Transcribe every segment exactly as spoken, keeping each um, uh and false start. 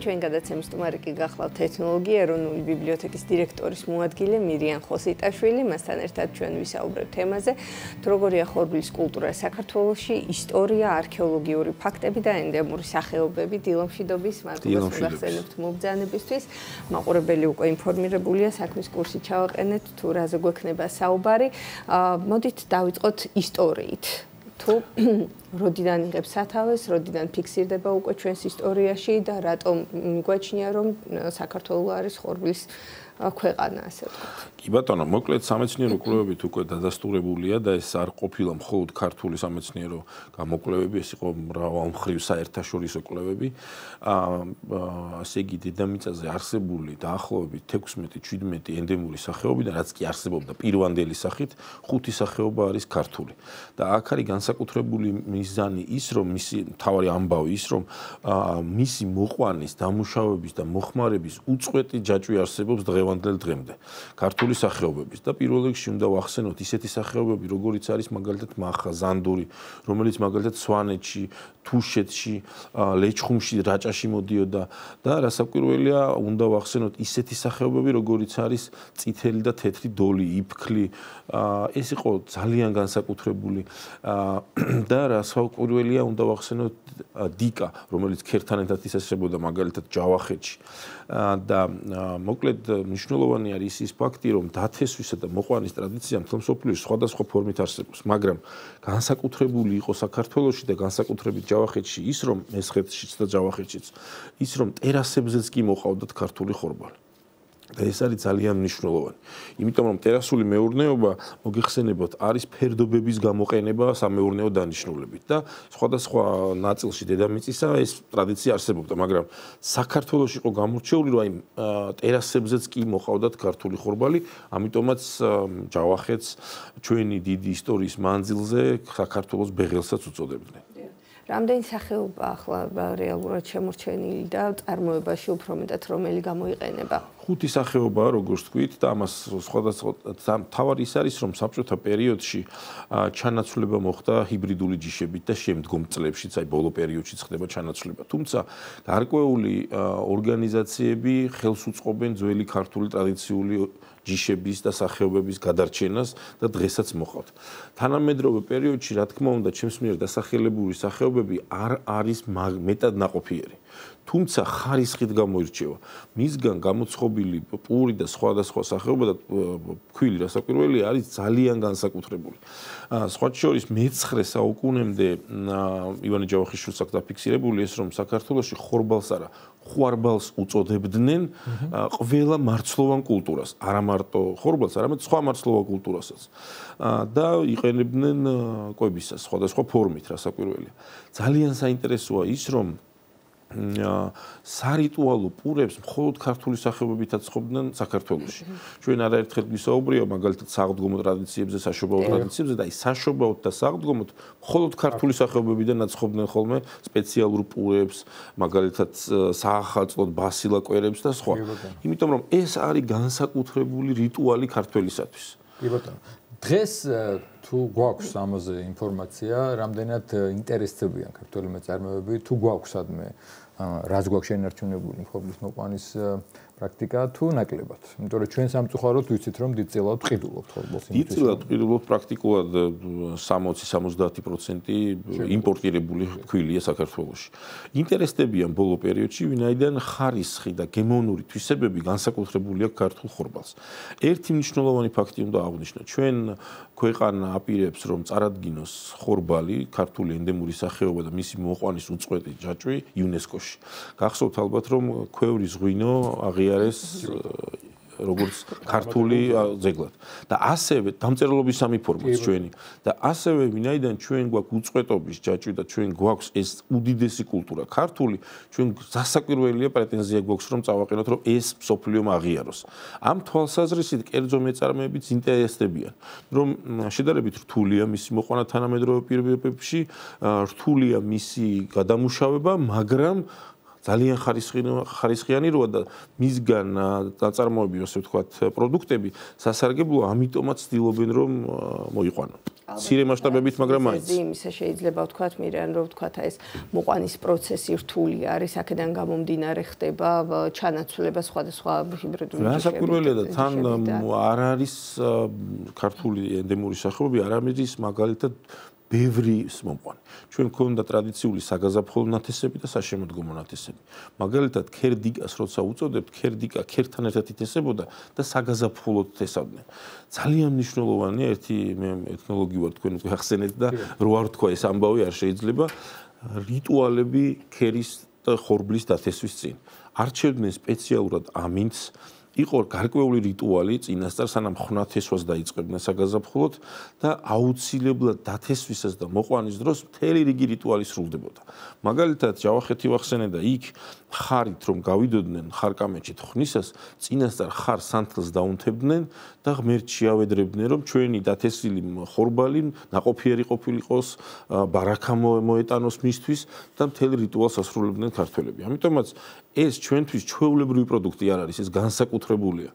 ჩვენ გადაცემის სტუმარი კი გახლავთ ეთნოლოგი ეროვნული ბიბლიოთეკის დირექტორის მოადგილე მირიან ხოსიტაშვილი. მასთან ერთად ჩვენ ვისაუბრებთ თემაზე, თუ როგორია ხორბლის კულტურა საქართველოში, ისტორია, არქეოლოგიური ფაქტები და ენდემური სახეობები დილომშვიდობის მადლობას მოგახსენებთ მობრძანებისთვის. მაყურებელი უკვე ინფორმირებულია, საქმის კურსი ჩავაყენეთ, თუ რაზე გვექნება საუბარი. მოდით დავიწყოთ ისტორიით. თუ როდიდან იღებს სათავეს, როდიდან ფიქსირდება უკვე ჩვენს ისტორიაში და რატომ მიგვაჩნია რომ საქართველო არის ხორბლის ქვეყანა, ასე ვთქვათ. კი ბატონო, მოკლედ სამეცნიერო კვლევებით უკვე დადასტურებულია და ეს არ ყოფილა მხოლოდ ქართული სამეცნიერო გამოკვლევები, ეს იყო მრავალმხრივ საერთაშორისო კვლევები. აა ასე იგი დედამიწაზე არსებული დაახლოებით თექვსმეტი შვიდმეტი ენდემური სახეობიდან, რაც კი არსებობდა პირვანდელი სახით, ხუთი სახეობა არის ქართული. და აქ არის განსაკუთრებული მიზანი ის, რომ მისი მთავარი ამბავი ის, რომ მისი მოყვანის, დამუშავების და მოხმარების უწყვეტი ჯაჭვი არსებობს დღევანდელ დღემდე. ქართული სახეობების და პირველ რიგში უნდა ვახსენოთ ისეთი სახეობები, როგორიც არის მაგალითად მახა, ზანდური, რომელიც მაგალითად სვანეთში, თუშეთში, ლეჩხუმში, რაჭაში მოდიოდა და რასაკვირველია, უნდა ვახსენოთ ისეთი სახეობები, როგორიც არის წითელი და თეთრი დოლი, იფქლი. ეს იყო ძალიან განსაკუთრებული და რასაკვირველია, უნდა ვახსენოთ დიკა, რომელიც ქერთან ერთად ისესებოდა მაგალითად ჯავახეთში. და მოკლედ მნიშვნელოვანი არის ის ფაქტი, რომ დათესვისა და მოყვანის ტრადიცია მთელ მსოფლიოში სხვადასხვა ფორმით არსებობს, მაგრამ განსაკუთრებული იყო საქართველოში და განსაკუთრებით ჯავახეთში ის, რომ მესხეთშიც და ჯავახეთშიც ის, რომ ტერასებზეც კი მოყავდათ ქართული ხორბალი. და ეს არის ძალიან მნიშვნელოვანი. იმიტომ რომ ტერასული მეურნეობა, მოგიხსენებათ, არის ფერდობების გამოყენება სამეურნეო დანიშნულებით და სხვადასხვა ნაწილში დედამიწისა ეს ტრადიცია არსებობდა, მაგრამ საქართველოში იყო გამორჩეული, რომ აი ტერასებზეც კი მოყავდათ ქართული ხორბალი, ამიტომაც ჯავახეთს ჩვენი დიდი ისტორიის მანძილზე საქართველოს ბეღელსაც უწოდებდნენ. რამდენი სახეობა ახლა რეალურად შემორჩენილი და წარმოებაში უფრო მეტად რომელი გამოიყენება? ხუთი სახეობაა, როგორც თქვით, და ამას სხვადასხვა თავარი ის არის, რომ საბჭოთა პერიოდში ჩანაცვლება მოხდა ჰიბრიდული ჯიშებით და შემდგომ წლებშიც, აი ბოლო პერიოდშიც ხდება ჩანაცვლება. თუმცა გარკვეული ორგანიზაციები ხელს უწყობენ ძველი ქართული ტრადიციული ჯიშების და სახეობების გადარჩენას და დღესაც მოყავთ. თანამედროვე პერიოდში, რა თქმა უნდა, ჩემს მიერ დასახელებული სახეობები არ არის მეტად ნაყოფიერი. თუმცა ხარისხით გამოირჩევა. მისგან გამოცხობილი პური და სხვადასხვა სახეობა და ფქვილი რასაკვირველი არის ძალიან განსაკუთრებული. სხვა შორის მეცხრე საუკუნემდე ივანე ჯავახიშვილს აქვს დაფიქსირებული ეს, რომ საქართველოში ხორბალს არა, ხვარბალს უწოდებდნენ ყველა მარცვლოვან კულტურას, არა მარტო ხორბალს, არამედ სხვა მარცვლოვან კულტურასაც. და იყენებდნენ კვებისას სხვადასხვა ფორმით, რასაკვირველია. ძალიან საინტერესოა ის, რომ სარიტუალო პურებს მხოლოდ ქართული სახეობებითაც ცხობდნენ საქართველოში. ჩვენ არაერთხელ ვისაუბრია მაგალითად საღდგომო ტრადიციებზე, საშობაო ტრადიციებზე და აი საშობაოთ და საღდგომოთ მხოლოდ ქართული სახეობებიდან აცხობდნენ ხოლმე სპეციალურ პურებს, მაგალითად საახალწლოდ ბასილა კვერებს და სხვა. იმიტომ რომ ეს არის განსაკუთრებული რიტუალი ქართველისათვის. კი ბატონო. დღეს თუ გვაქვს ამაზე ინფორმაცია, რამდენად ინტერესდებიან ქართველი მეწარმეები, თუ გვაქვს ადმე რაც გვაქვს შენარჩუნებული ხორბლის მოყვანის პრაქტიკა თუ ნაკლებად. იმიტომ რომ ჩვენ სამწუხაროდ ვიცით რომ დიდწილად ყიდულობთ ხორბალს. დიდწილად ყიდულობთ პრაქტიკულად სამოცი სამოცდაათი პროცენტი იმპორტირებული ქვილია საქართველოში. ინტერესდებიან ბოლო პერიოდში, ვინაიდან ხარისხი და გემოვნური თვისებები განსაკუთრებული აქვს ქართულ ხორბალს. ერთი მნიშვნელოვანი ფაქტი უნდა აღვნიშნო. ჩვენ ქვეყანა აპირებს რომ წარადგინოს ხორბალი, ქართული ენდემური სახეობა და მისი მოყვანის უწყვეტი ჯაჭვი იუნესკოში. გახსოვთ ალბათ რომ ქვევრის ღვინო აღიარეს როგორც ქართული ძეგლად. და ასევე დამწერლობის სამი ფორმაც ჩვენი და ასევე ვინაიდან ჩვენ გვაქვს უწყვეტობის ჯაჭვი და ჩვენ გვაქვს ეს უდიდესი კულტურა ქართული, ჩვენ გასაკვირველია პრეტენზია გვაქვს რომ წავაყენოთ რომ ეს მსოფლიომ აღიაროს. ამ თვალსაზრისით კერძო მეწარმეებიც ინტერესდებიან, რომ შედარებით რთულია მისი მოყვანა თანამედროვე პირობებში, რთულია მისი გადამუშავება, მაგრამ ძალიან ხარისხიანი როა და მისგან დაწარმოები, ასე ვთქვათ, პროდუქტები სასარგებლოა, ამიტომაც ცდილობენ რომ მოიყვანონ. მცირე მასშტაბებით, მაგრამ მაინც. იმისა შეიძლება ვთქვათ, მირიან რომ ვთქვათ, ეს მოყვანის პროცესი რთული არის, აქედან გამომდინარე ხდება ჩანაცვლება სხვადასხვა ჰიბრიდული ჯიშების. განსაკუთრებელია და თან არ არის ქართული ენდემური სახეობები, არ არის მაგალითად ბევრი მომყვანი. ჩვენ გვქონდა ტრადიციული საგაზაფხულო ნათესები და საშემოდგომო ნათესები. მაგალითად, ქერდიკას როცა უწოდებთ, ქერდიკა ქერთან ერთად ითესებოდა და საგაზაფხულოდ თესავდნენ. ძალიან მნიშვნელოვანია ერთი მე ეთნოლოგი ვარ, თქვენ უკვე ახსენეთ და რო არ თქვა ეს ამბავი არ შეიძლება რიტუალები ქერის და ხორბლის დათესვის წინ. არჩევდნენ სპეციალურად ამინდს იყო გარკვეული რიტუალი წინასწარ სანამ ხვნათესვას დაიწყებდნენ საგაზაფხულოდ და აუცილებლად დათესვისას და მოყვანის დროს მთელი რიგი რიტუალი სრულდებოდა. მაგალითად, ჯავახეთი ვახსენე და იქ ხარით რომ გავიდოდნენ ხარკამეჩით ხვნისას, წინასწარ ხარ სანთლს დაუნთებდნენ და ღმერთს შეავედრებდნენ რომ ჩვენი დათესილი ხორბალი ნაყოფიერი ყოფილიყოს, ბარაქა მოეტანოს მისთვის და მთელი რიტუალს ასრულებდნენ ქართველები. ამიტომაც ეს ჩვენთვის ჩვეულებრივი პროდუქტი არ არის, ეს განსაკუთრებულია.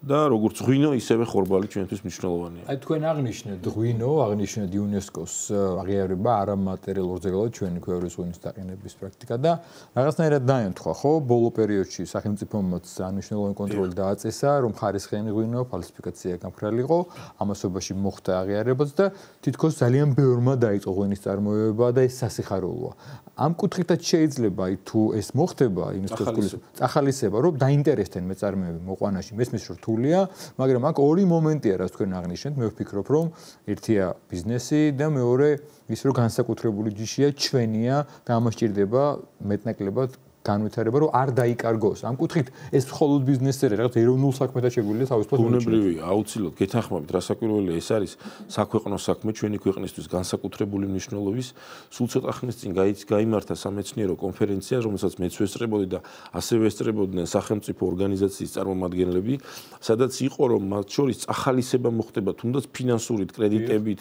და როგორც ღვინო, ისევე ხორბალი ჩვენთვის მნიშვნელოვანია. აი თქვენ აღნიშნეთ ღვინო, აღნიშნეთ იუნესკოს აღიარება არამატერიალურ ძეგლად ჩვენი ქვევრის ღვინის დაყენების პრაქტიკა და რაღაცნაირად დაემთხვა, ხო? ბოლო პერიოდში სახელმწიფომაც მნიშვნელოვანი კონტროლი დააწესა, რომ ხარისხიანი ღვინო ფალსიფიკაცია გამქრალიყო, ამასობაში მოხდა აღიარებაც და თითქოს ძალიან ბევრმა დაიწყო ღვინის წარმოება და ეს სასიხარულოა. ამ კუთხითაც შეიძლება აი თუ ეს მოხდება იუნესკოს გულის წახალისება, რომ დაინტერესდნენ მეწარმეები მოყვანაში, მესმის რომ რთულია, მაგრამ აქ ორი მომენტია, რაც თქვენ აღნიშნეთ, მე ვფიქრობ, რომ ერთია ბიზნესი და მეორე ის რომ განსაკუთრებული ჯიშია, ჩვენია და ამას ჭირდება მეტნაკლებად განვითარება, რომ არ დაიკარგოს. ამ კუთხით ეს მხოლოდ ბიზნესზე რაღაც ეროვნულ საქმეთა შეგვიძლია თავისუფლად ბუნებრივია, აუცილებლად გეთანხმებით, რასაკვირველია ეს არის საქვეყნო საქმე ჩვენი ქვეყნისთვის განსაკუთრებული მნიშვნელობის. სულ ცოტა ხნის წინ გაიმართა სამეცნიერო კონფერენცია, რომელსაც მეც ვესწრებოდი და ასევე ესწრებოდნენ სახელმწიფო ორგანიზაციის წარმომადგენლები, სადაც იყო რომ მათ შორის წახალისება მოხდება თუნდაც ფინანსურით, კრედიტებით,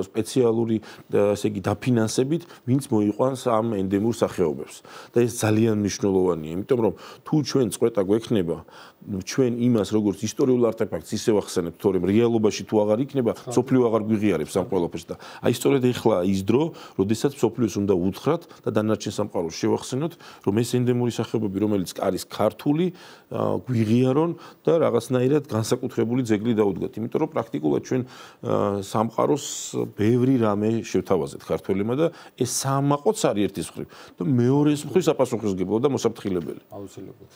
სპეციალური, ასე იგი, დაფინანსებით, ვინც მოიყვანს ამ ენდემურ სახეობებს. და ეს ძალიან მნიშვნელოვანია, იმიტომ რომ თუ ჩვენ წყვეტა გვექნება ჩვენ იმას როგორც ისტორიულ არტეფაქტს ისე ვახსენებთ, თორემ რეალობაში თუ აღარ იქნება, სოფლიო აღარ გვიღიარებს ამ ყველაფერს და აი სწორედ ეხლა ის დრო, როდესაც სოფლიოს უნდა უთხრათ და დანარჩენ სამყაროს შევახსენოთ, რომ ეს ენდემური სახეობები, რომელიც არის ქართული, გვიღიარონ და რაღაცნაირად განსაკუთრებული ძეგლი დაუდგათ. იმიტომ რომ პრაქტიკულად ჩვენ სამყაროს ბევრი რამე შევთავაზეთ ქართველებმა და ეს საამაყოც არის ერთის მხრივ და მეორეს მხრივ საპასუხისმგებლო და მოსაფრთხილებელი. აუცილებლად.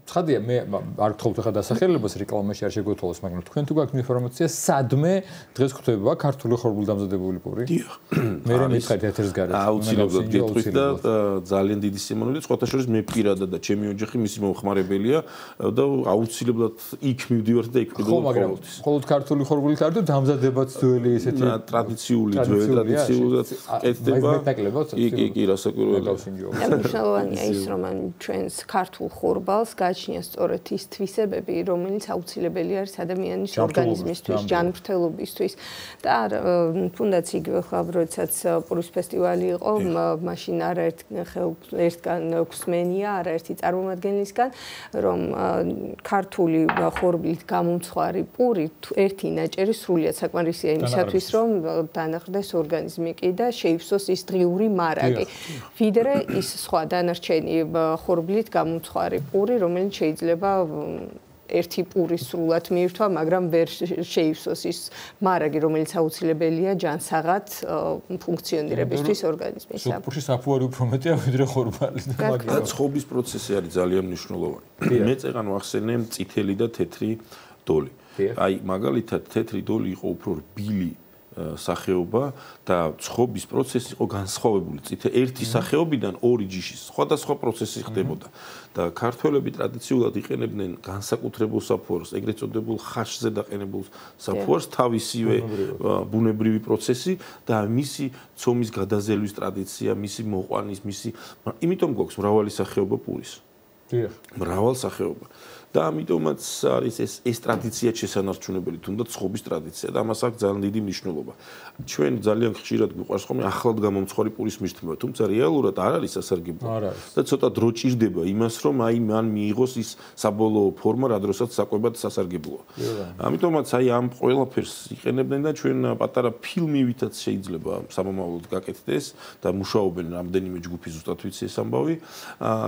ცხადია, მე არ გთხოვთ ახლა დასახელებას რეკლამაში არ შეგვეთვალოს, მაგრამ თქვენ თუ გაქვთ ინფორმაცია, სადმე დღეს გვხვდება ქართული ხორბული დამზადებული პური? დიახ. მე რა მითხარით ეთერს გარეთ? აუცილებლად გეტყვით და ძალიან დიდი სიმონელი, სხვათა შორის მე პირადად და ჩემი ოჯახი მისი მომხმარებელია და აუცილებლად იქ მივდივართ და იქ ვიყიდო ყოველთვის. მხოლოდ ქართული ხორბულით არ თუ დამზადებაც ძველი ესეთი ტრადიციული, ძველი ტრადიციულად კეთდება. იქ იქ რასაკვირველია. მნიშვნელოვანია ის, რომ ჩვენს ქართულ ხორბალს გააჩნია სწორედ ის თვისებები, რომელიც აუცილებელი არის ადამიანის ორგანიზმისთვის, ჯანმრთელობისთვის და თუნდაც იგივე ხა როდესაც პურის ფესტივალი იყო, მაშინ არაერთ ერთგან გვსმენია, არაერთი წარმომადგენლისგან, რომ ქართული ხორბლით გამომცხვარი პური ერთი ნაჭერი სრულიად საკმარისია იმისათვის, რომ დანახრდეს ორგანიზმი კი და შეივსოს ის დღიური მარაგი. ვიდრე ის სხვა დანარჩენი ხორბლით გამომცხვარი პური, რომელიც შეიძლება ერთი პური სრულად მიირთვა, მაგრამ ვერ შეივსოს ის მარაგი, რომელიც აუცილებელია ჯანსაღად ფუნქციონირებისთვის ორგანიზმისა. სოფურში საფუარი უფრო მეტია ვიდრე ხორბალი. და ცხობის პროცესი არის ძალიან მნიშვნელოვანი. მე წეგან ვახსენე წითელი და თეთრი დოლი. აი, მაგალითად, თეთრი დოლი იყო უფრო რბილი სახეობა და ცხობის პროცესი იყო განსხვავებული. წითე ერთი სახეობიდან ორი ჯიშის სხვადასხვა პროცესი ხდებოდა და ქართველები ტრადიციულად იყენებდნენ განსაკუთრებულ საფუარს, ეგრეთ წოდებულ ხაშზე დაყენებულ საფუარს, თავისივე ბუნებრივი პროცესი და მისი ცომის გადაზელვის ტრადიცია, მისი მოყვანის, მისი, იმიტომ გვაქვს მრავალი სახეობა პურის. დიახ. მრავალ სახეობა. და ამიტომაც არის ეს ეს ტრადიცია შესანარჩუნებელი, თუნდაც ცხობის ტრადიცია და ამას აქვს ძალიან დიდი მნიშვნელობა. ჩვენ ძალიან ხშირად გვიყვარს ხოლმე ახლად გამომცხვარი პურის მირთმევა, თუმცა რეალურად არ არის სასარგებლო. და ცოტა დრო ჭირდება იმას, რომ აი მან მიიღოს ის საბოლოო ფორმა, რა დროსაც საკვებად სასარგებლოა. ამიტომაც აი ამ ყველაფერს იყენებდნენ და ჩვენ პატარა ფილმივითაც შეიძლება სამომავლოდ გაკეთდეს და მუშაობენ რამდენიმე ჯგუფი ზუსტად ვიცი ეს ამბავი,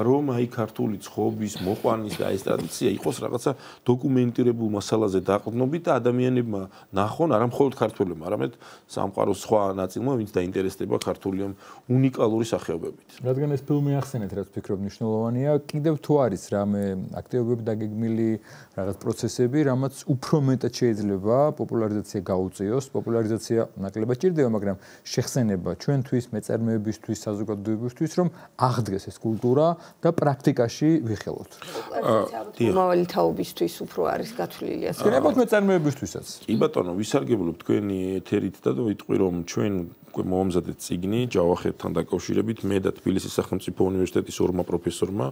რომ აი ქართული ცხობის, მოყვანის და ეს ტრადიცია იყოს რაღაცა დოკუმენტირებულ მასალაზე დაყრდნობით და ადამიანებმა ნახონ არა მხოლოდ ქართველებმა, არამედ სამყაროს სხვა ნაწილმა, ვინც დაინტერესდება ქართული ამ უნიკალური სახეობებით. რადგან ეს ფილმი ახსენეთ, რაც ვფიქრობ მნიშვნელოვანია, კიდევ თუ არის რამე აქტივობები დაგეგმილი, რაღაც პროცესები, რამაც უფრო მეტად შეიძლება პოპულარიზაცია გაუწიოს, პოპულარიზაცია ნაკლებად ჭირდება, მაგრამ შეხსენება ჩვენთვის, მეწარმეებისთვის, საზოგადოებისთვის, რომ აღდგეს ეს კულტურა და პრაქტიკაში ვიხელოთ. მომავალი თაობისთვის უფრო არის გათვლილი ასე. შეიძლება მეწარმეებისთვისაც. კი ბატონო, ვისარგებლობ თქვენი ეთერით და ვიტყვი რომ ჩვენ მომზადეთ წიგნი ჯავახეთთან დაკავშირებით მე და თბილისის სახელმწიფო უნივერსიტეტის ორმა პროფესორმა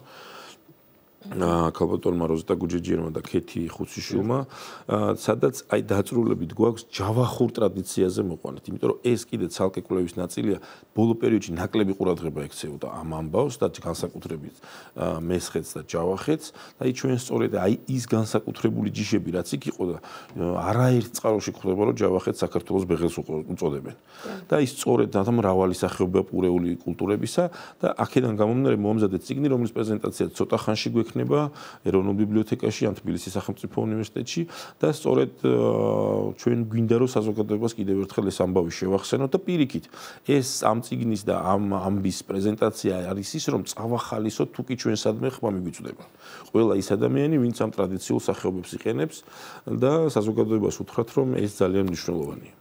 ქალბატონმა როზიტა გუჯეჯიანმა და ქეთი ხუციშვილმა, სადაც აი დაწრულებით გვაქვს ჯავახურ ტრადიციაზე მოყვანით, იმიტომ რომ ეს კიდე ცალკე კვლევის ნაწილია, ბოლო პერიოდში ნაკლები ყურადღება ექცეოდა ამ ამბავს და განსაკუთრებით მესხეთს და ჯავახეთს და აი ჩვენ სწორედ აი ის განსაკუთრებული ჯიშები რაც იქ იყო და არაერთ წყაროში გვხვდება რომ ჯავახეთს საქართველოს ბეღელს უწოდებენ. და ის სწორედ და მრავალი სახეობა პურეული კულტურებისა და აქედან გამომდინარე მომზადეთ წიგნი, რომლის პრეზენტაცია ცოტა ხანში გვექნება ეროვნულ ბიბლიოთეკაში ან თბილისის სახელმწიფო უნივერსიტეტში და სწორედ ჩვენ გვინდა რომ საზოგადოებას კიდევ ერთხელ ეს ამბავი შევახსენოთ და პირიქით ეს ამ წიგნის და ამ ამბის პრეზენტაცია არის ის რომ წავახალისოთ თუ კი ჩვენ სადმე ხმა მიგვიწვდება. ყველა ის ადამიანი ვინც ამ ტრადიციულ სახეობებს იყენებს და საზოგადოებას უთხრათ რომ ეს ძალიან მნიშვნელოვანია.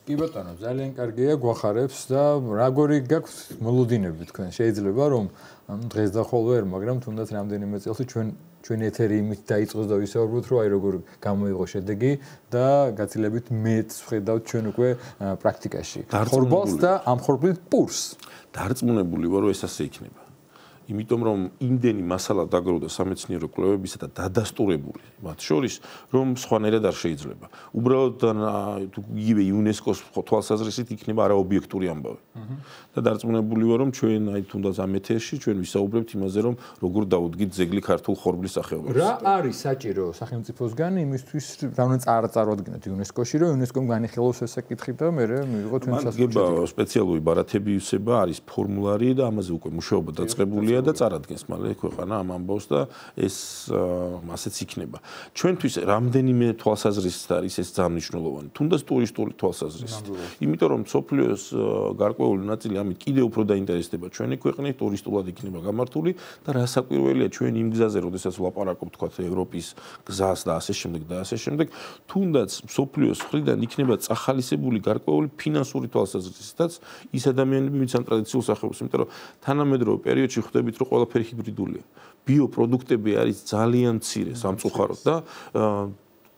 კი ბატონო, ძალიან კარგია, გვახარებს და როგორი გაქვთ მოლოდინები თქვენ? შეიძლება რომ დღეს და ხოლმე, მაგრამ თუნდაც რამდენიმე წელს ჩვენ ჩვენ ეთერი იმით დაიწყოს და ვისაუბროთ, რომ აი როგორ გამოიღო შედეგი და გაცილებით მეც ვხედავთ ჩვენ უკვე პრაქტიკაში. ხორბალს და ამ ხორბლით პურს. დარწმუნებული ვარ, რომ ეს ასე იქნება. იმიტომ რომ იმდენი მასალა დაგროვდა სამეცნიერო კვლევებისა და დადასტურებული მათ შორის რომ სხვანაირად არ შეიძლება. უბრალოდ იგივე იუნესკოს თვალსაზრისით იქნება არაობიექტური ამბავი. და დარწმუნებული ვარ რომ ჩვენ აი თუნდაც ამ ეთერში ჩვენ ვისაუბრებთ იმაზე რომ როგორ დაუდგით ძეგლი ქართულ ხორბლის სახეობებს. რა არის საჭირო სახელმწიფოსგან იმისთვის რომ წარადგინოთ იუნესკოში რომ იუნესკომ განიხილოს ეს საკითხი და მე მიიღო თქვენ სასწაულს. სპეციალური ბარათები უსება არის ფორმულარი და ამაზე უკვე მუშაობა დაწყებულია და წარადგენს მალე ქვეყანა ამ ამბავს და ეს ასეც იქნება. ჩვენთვის რამდენიმე თვალსაზრისით არის ეს ძალიან მნიშვნელოვანი. თუნდაც ტურისტული თვალსაზრისით. იმიტომ რომ სოფლიოს გარკვეული ნაწილი ამით კიდევ უფრო დაინტერესდება ჩვენი ქვეყნის ტურისტულად იქნება გამართული და რასაკვირველია ჩვენ იმ გზაზე, როდესაც ვლაპარაკობთ თქვა ევროპის გზას და ასე შემდეგ და ასე შემდეგ, თუნდაც სოფლიოს მხრიდან იქნება წახალისებული გარკვეული ფინანსური თვალსაზრისითაც ის ადამიანები, ვინც ამ ტრადიციულ სახეობას, იმიტომ რომ თანამედროვე პერიოდში ხვდებით რომ ყველაფერი ჰიბრიდულია. ბიოპროდუქტები არის ძალიან მცირე სამწუხაროდ და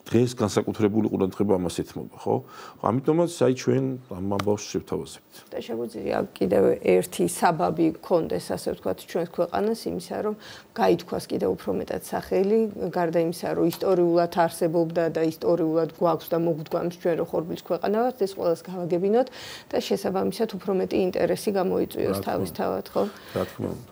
დღეს განსაკუთრებული ყურადღება ამას ეთმობა, ხო? ამიტომაც აი ჩვენ ამ ამბავს შევთავაზებთ. და შეგვიძლია კიდევ ერთი საბაბი გქონდეს, ასე ვთქვათ, ჩვენს ქვეყანას იმისა, რომ გაითქვას კიდევ უფრო მეტად სახელი, გარდა იმისა, რომ ისტორიულად არსებობდა და ისტორიულად გვაქვს და მოგვდგამს ჩვენ რო ხორბლის ქვეყანა ვართ, ეს ყველას გავაგებინოთ და შესაბამისად უფრო მეტი ინტერესი გამოიწვიოს თავისთავად, ხო? რა თქმა უნდა.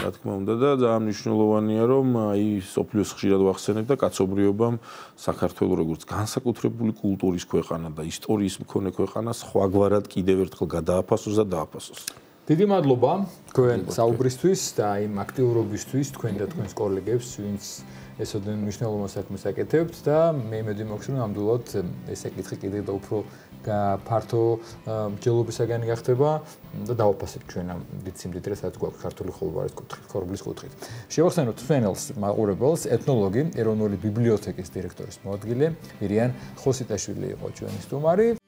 რა თქმა უნდა და ძალიან მნიშვნელოვანია რომ აი სოფლიოს ხშირად ვახსენებ და კაცობრიობამ საქართველოს როგორც განსაკუთრებული კულტურის ქვეყანა და ისტორიის მქონე ქვეყანა სხვაგვარად კიდევ ერთხელ გადააფასოს და დააფასოს. დიდი მადლობა თქვენ საუბრისთვის და იმ აქტიურობისთვის თქვენ და თქვენს კოლეგებს, ვინც ესოდენ მნიშვნელოვან საქმეს აკეთებთ და მე იმედი მაქვს რომ ნამდვილად ეს საკითხი კიდევ და უფრო ფართო მსჯელობისაგანი გახდება და დავაფასებთ ჩვენ ამ დიდ სიმდიდრეს, რაც გვაქვს ქართული ხორბალის კუთხით, ხორბლის კუთხით. შევახსენოთ თვენელს მაყურებელს, ეთნოლოგი, ეროვნული ბიბლიოთეკის დირექტორის მოადგილე მირიან ხოსიტაშვილი იყო ჩვენი სტუმარი.